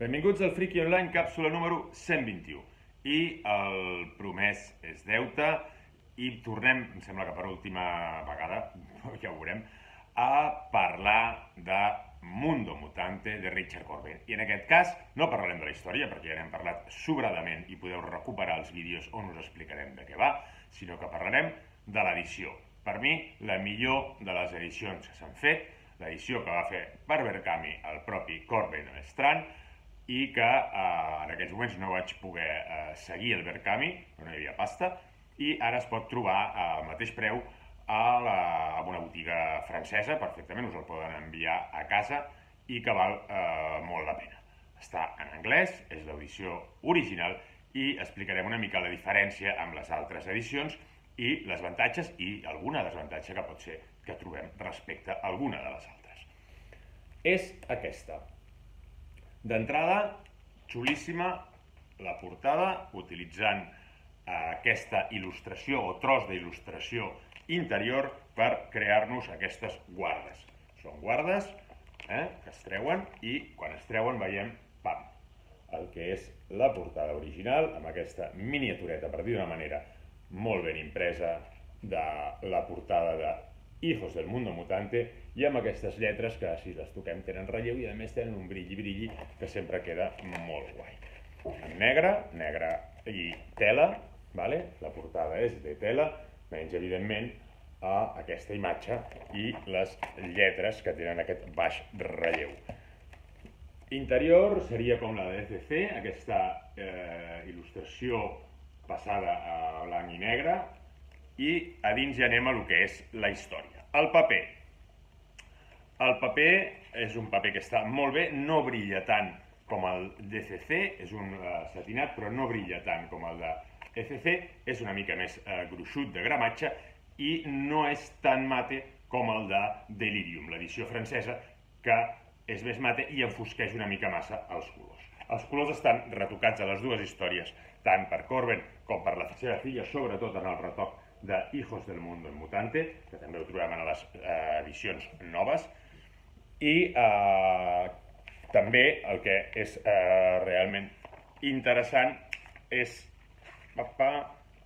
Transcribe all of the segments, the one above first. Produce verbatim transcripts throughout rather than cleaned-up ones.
Benvinguts al Friki Online, càpsula número cent vint-i-u. I el promès és deute i tornem, em sembla que per última vegada, ja ho veurem, a parlar de Mundo Mutante de Richard Corben. I en aquest cas no parlarem de la història, perquè ja n'hem parlat sobradament i podeu recuperar els vídeos on us explicarem de què va, sinó que parlarem de l'edició. Per mi, la millor de les edicions que s'han fet, l'edició que va fer per Berkami el propi Corben Strand, i que eh, en aquells moments no vaig poder eh, seguir el Berkami, no hi havia pasta, i ara es pot trobar al mateix preu a, la, a una botiga francesa, perfectament, us el poden enviar a casa i que val eh, molt la pena. Està en anglès, és l'edició original i explicarem una mica la diferència amb les altres edicions i les avantatges i alguna desavantatge que pot ser que trobem respecte a alguna de les altres. És aquesta. D'entrada, xulíssima la portada, utilitzant eh, aquesta il·lustració o tros d'il·lustració interior per crear-nos aquestes guardes. Són guardes eh, que es treuen i quan es treuen veiem, pam, el que és la portada original, amb aquesta miniatureta, per dir d'una manera molt ben impresa, de la portada de Hijos del Mundo Mutante, i amb aquestes lletres que, si les toquem, tenen relleu i a més tenen un brilli-brilli que sempre queda molt guai. En negre, negre i tela, vale? La portada és de tela, menys evidentment a aquesta imatge i les lletres que tenen aquest baix relleu. Interior seria com la de D C C, aquesta eh, il·lustració passada a blanc i negre, i a dins ja anem a lo que és la història. El paper. El paper és un paper que està molt bé, no brilla tant com el D C C, és un uh, satinat, però no brilla tant com el de E C C, és una mica més uh, gruixut de gramatge i no és tan mate com el de Delirium, l'edició francesa, que és més mate i enfosqueix una mica massa els colors. Els colors estan retocats a les dues històries, tant per Corben com per la seva filla, sobretot en el retoc de Hijos del Mundo Mutante, que també ho trobem en les eh, edicions noves, i eh, també el que és eh, realment interessant és pa,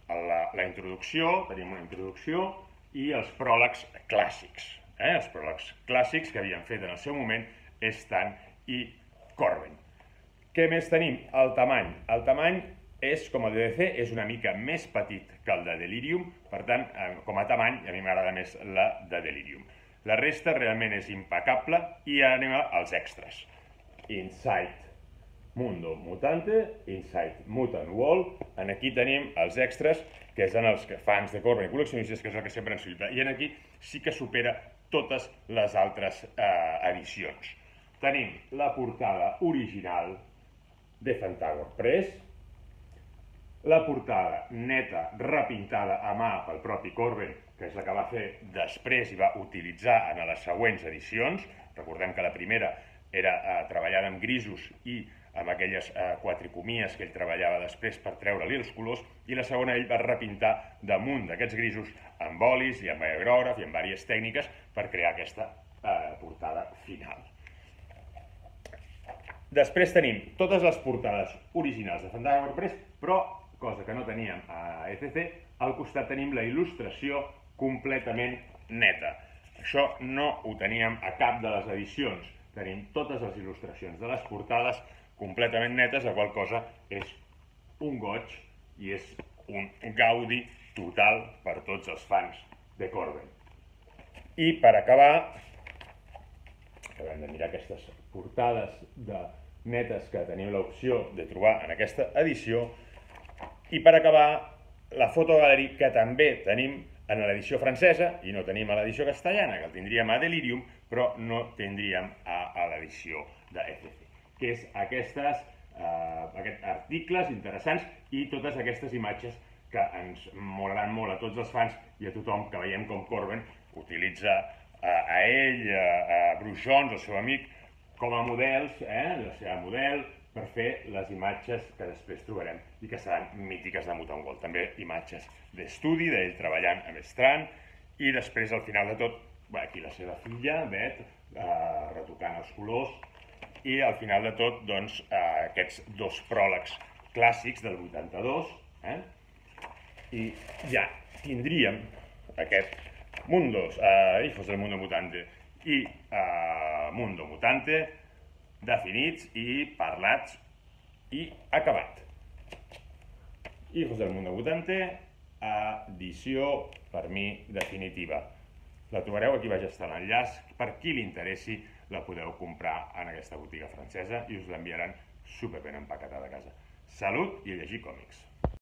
la, la introducció, tenim una introducció i els pròlegs clàssics. Eh? Els pròlegs clàssics que havien fet en el seu moment Stan i Corben. Què més tenim? El tamany. El tamany és, com el de D C, és una mica més petit que el de Delirium, per tant, com a tamany, a mi m'agrada més la de Delirium. La resta realment és impecable i ara anem als extras. Inside Mundo Mutante, Inside Mutant World, en aquí tenim els extras, que són els fans de Corben i col·leccionistes, que és el que sempre ens solita, i en aquí sí que supera totes les altres eh, edicions. Tenim la portada original de Fantasma Press, la portada neta, repintada a mà pel propi Corben, que és la que va fer després i va utilitzar en les següents edicions. Recordem que la primera era eh, treballada amb grisos i amb aquelles eh, quatricomies que ell treballava després per treure-li els colors, i la segona ell va repintar damunt d'aquests grisos amb olis i amb aerògraf i amb diverses tècniques per crear aquesta eh, portada final. Després tenim totes les portades originals de Fantasma Press, però cosa que no teníem a E C C, al costat tenim la il·lustració completament neta. Això no ho teníem a cap de les edicions. Tenim totes les il·lustracions de les portades completament netes, la qual cosa és un goig i és un gaudi total per tots els fans de Corben. I per acabar, acabem de mirar aquestes portades de netes que tenim l'opció de trobar en aquesta edició. I per acabar, la fotogaleri que també tenim en l'edició francesa i no tenim a l'edició castellana, que el tindríem a Delirium, però no tindríem a, a l'edició de E C C, que és aquestes, eh, aquests articles interessants i totes aquestes imatges que ens molaran molt a tots els fans i a tothom que veiem com Corben utilitza eh, a ell, a, a Bruce Jones, el seu amic, com a models, eh, la seva model, per fer les imatges que després trobarem i que seran mítiques de Mutant World. També imatges d'estudi, d'ell treballant amb Strand, i després, al final de tot, aquí la seva filla, Beth, eh, retocant els colors i al final de tot, doncs, eh, aquests dos pròlegs clàssics del vuitanta-dos, eh? I ja tindríem aquest Mundos, eh, Hijos del Mundo Mutante i eh, Mundo Mutante definits i parlats i acabat. Hijos del Mundo Mutante, edició, per mi, definitiva. La trobareu, aquí baix està l'enllaç, per qui li interessi la podeu comprar en aquesta botiga francesa i us l'enviaran superben empaquetada a casa. Salut i a llegir còmics!